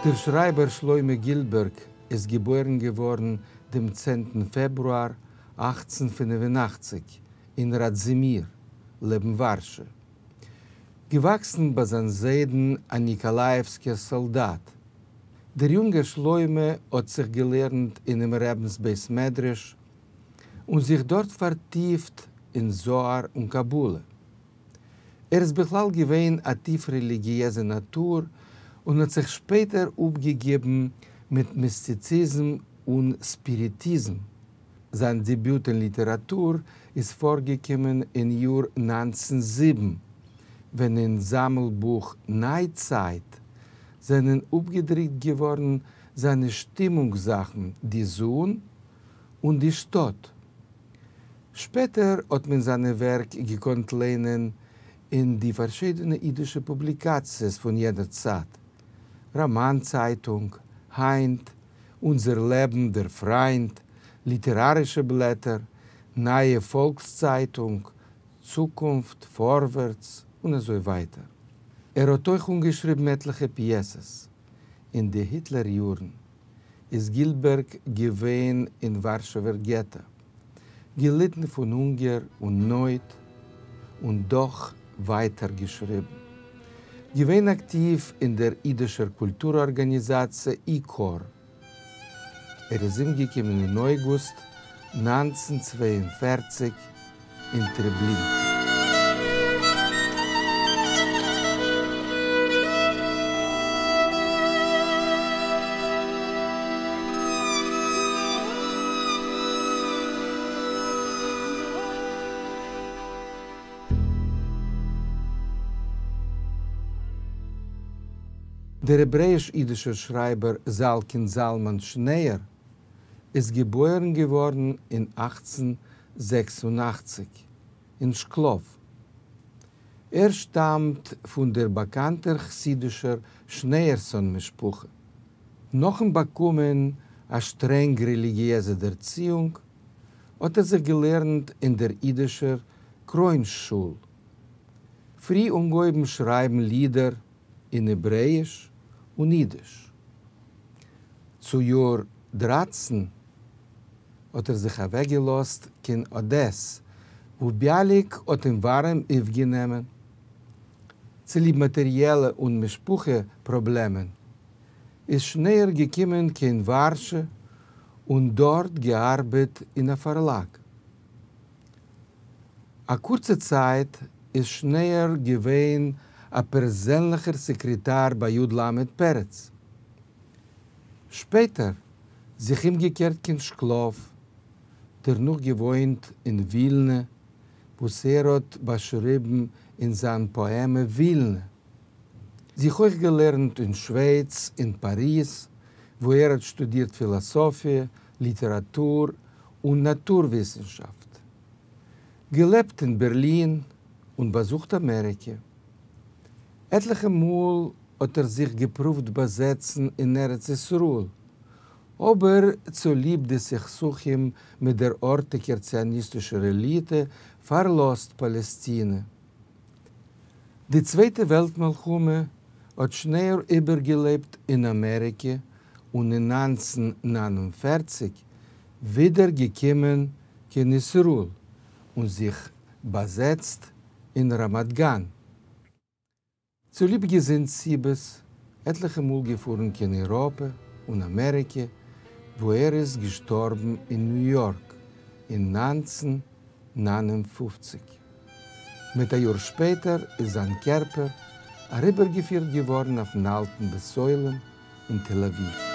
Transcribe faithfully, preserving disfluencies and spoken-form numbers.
דער שרײַבער שלמה גילבערג איז געבוירן געוואָרן דעם צענטן פֿעברואַר אַכצן פֿינף און אַכציק אין ראַדזימיר, לעבן וואַרשע. געוואַקסן בײַ זײַן זיידן אַ ניקאָלאַיעווסקער סאָלדאַט. דער יונגער שלמה האָט זיך געלערנט אינעם רבינס בית-מדרש און זיך דאָרט פֿאַרטיפֿט אין זוהר און קבלה. ער איז בכלל געווען אַ טיף רעליגיעזע נאַטור און האָט זיך שפּעטער אָפּגעגעבן מיט מיסטיציזם און ספּיריטיזם. זײַן דעביוט אין ליטעראַטור איז פֿאָרגעקומען אין יאָר נײַנצן זיבן, ווען אין זאַמלבוך נײַצײַט זענען אָפּגעדרוקט געוואָרן זײַנע שטימונג-זאַכן די זון און די שטאָט. שפּעטער האָט מען זײַנע ווערק געקאָנט לייענען אין די פֿאַרשיידענע ייִדישע פּובליקאַציעס פֿון יענער צײַט, ראָמאַן-צײַטונג, הײַנט, אונדזער לעבן, דער פֿרײַנד, ליטעראַרישע בלעטער, נײַע פֿאָלקסצײַטונג, צוקונפֿט, פֿאָרווערטס און אַזוי ווײַטער. ער האָט אויך אָנגעשריבן עטלעכע פּיעסעס. אין די היטלער-יאָרן איז גילבערג געווען אין וואַרשעווער געטאָ, געליטן פֿון הונגער און נויט און דאָך ווײַטער געשריבן. געווען אַקטיוו אין דער ייִדישער קולטור-אָרגאַניזאַציע איקאָר. ער איז אומגעקומען אין אויגוסט נײַנצן צוויי און פֿערציק אין טרעבלינקע. דער העברעיִש-ייִדישער שרײַבער זאַלקינד זלמן שניאור איז געבוירן געוואָרן אין אַכצן זעקס און אַכציק אין שקלאָוו. ער שטאַמט פֿון דער באַקאַנטער חסידישער שניאורסאָן-משפּחה. נאָכן באַקומען אַ שטרענג רעליגיעזע דערציִונג, האָט ער זיך געלערנט אין דער ייִדישער קרוין-שול. פֿרי אָנגעהויבן שרײַבן לידער אין העברעיִש און ייִדיש. צו יאָר דרײַצן האָט ער זיך אַוועקגעלאָזט קיין אָדעס, וווּ ביאַליק האָט אים וואַרעם אויפֿגענומען. צוליב מאַטעריעלע און משפּחה-פּראָבלעמען איז שניאור געקומען קיין וואַרשע און דאָרט געאַרבעט אין אַ פֿאַרלאַג. אַ קורצע צײַט איז שניאור געווען אַ פּערזענלעכער סעקרעטאַר בײַ יוד למד פּרץ. שפּעטער זיך אומגעקערט קיין שקלאָוו, דערנאָך געוואוינט אין ווילנע, וואָס ער האָט באַשריבן אין זײַן פּאָעמע ווילנע. זיך אויך געלערנט אין שווייץ, אין פּאַריז, וווּ ער האָט שטודירט פֿילאָסאָפֿיע, ליטעראַטור און נאַטור-וויסנשאַפֿט. געלעבט אין בערלין און באַזוכט אַמעריקע. עטלעכע מאָל האָט ער זיך געפּרוּווט באַזעצן אין ארץ-ישׂראל, אָבער צוליב די סכסוכים מיט דער אָרטיקער ציוניסטישער עליטע פֿאַרלאָזט פּאַלעסטינע. די צווייטע וועלט-מלחמה האָט שניאור איבערגעלעבט אין אַמעריקע און אין נײַנצן נײַן און פֿערציק ווידער געקומען קיין ישׂראל און זיך באַזעצט אין רמת-גן. צוליב געזונט-סיבות עטלעכע מאָל געפֿאָרן קיין אייראָפּע און אַמעריקע, וווּ ער איז געשטאָרבן אין ניו-יאָרק אין נײַנצן נײַן און פֿופֿציק. מיט אַ יאָר שפּעטער איז זײַן קערפּער אַריבערגעפֿירט געוואָרן אויפֿן אַלטן בית-עולם אין תּל-אָבֿיבֿ.